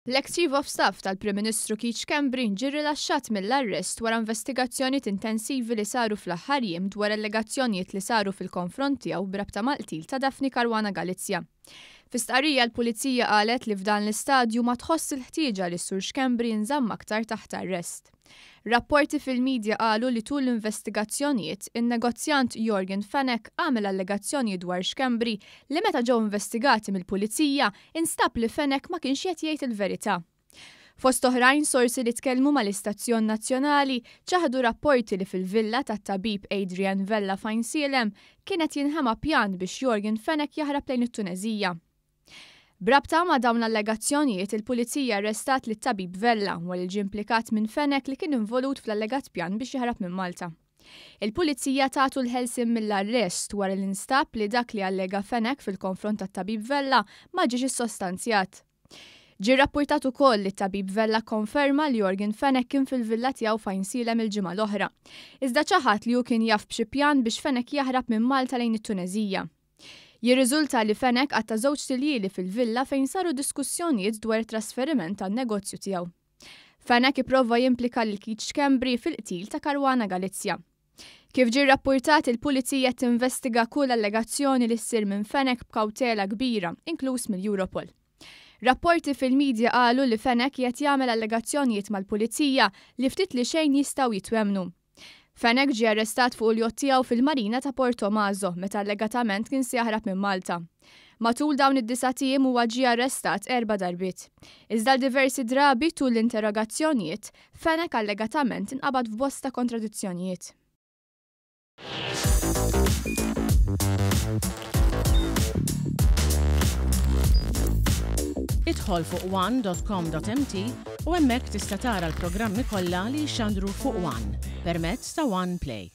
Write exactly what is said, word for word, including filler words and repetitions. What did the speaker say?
L-ex Chief of Staff tal-Prim Ministru Keith Schembri ġie rilaxxat mill-arrest wara investigazzjonijiet intensivi li saru fl-aħħar jiem dwar allegazzjonijiet li saru fil-konfront tiegħu b'rabta mal-qtil ta' Daphne Caruana Galizia. Fi stqarrija, l-Pulizija qalet li f'dan l-istadju ma tħoss il-ħtieġa li Sur Schembri jinżamm aktar taħt arrest. Rapporti fil-medja qalu li tul l-investigazzjonijiet, in-negozjant Yorgen Fenech għamel allegazzjoni dwar Schembri li meta ġew investigati mill-Pulizija instab li Fenech ma kienx qed jgħid il-verità. Fost oħrajn, sorsi li tkellmu mal-Istazzjon Nazzjonali ċaħdu rapporti li fil-villa tat-tabib Adrian Vella f'Għajnsielem kienet jinħema pjan biex Yorgen Fenech jaħrab lejn it-Tuneżija. B'rabta ma' dawn l-allegazzjonijiet, il-Pulizija arrestat lit tabib Vella wara li ġie implikat minn Fenech li kien involut fl-allegat pjan biex jaħrab minn Malta. Il-Pulizija tatu l-ħelsien mill-arrest wara li nstab li dak li allega Fenech fil-konfront tat-tabib Vella ma ġiex issostanzjat. Ġie rapportat ukoll li t-tabib Vella konferma li Yorgen Fenech kien fil-villa tiegħu f'Għajnsielem il-ġimgħa l-oħra. Iżda ċaħat li hu kien jaf b'xi pjan biex Fenech jaħrab minn Malta lejn it-Tuneżija. Jirriżulta li Fenech qatta' żewġt iljieli fil-villa fejn saru diskussjonijiet dwar it-trasferiment tan-negozju tiegħu. Fenech ipprova jimplika lil Keith Schembri fil-qtil ta' Caruana Galizia. Kif ġie rapportat, il-Pulizija tinvestiga kull allegazzjoni li ssir minn Fenech b'kawtela kbira, inkluż mill-Europol. Rapporti fil-medja qalu li Fenech qed jagħmel allegazzjonijiet mal-Pulizija li ftit li xejn jistgħu jitwemnu. Fenech ġie arrestat fuq il-jott tiegħu fil-marina ta' Portomaso meta allegatament kien se jaħrab minn Malta. Matul dawn id-disat ijiem huwa ġie arrestat erba' darbiet. Iżda diversi drabi tul l-interrogazzjonijiet, Fenech allegatament inqabad f'bosta kontradizzjonijiet. Idħol fuq one dot com dot M T u hemmhekk tista' tara l-programmi kollha li jxandru fuq One permezz ta' One Play.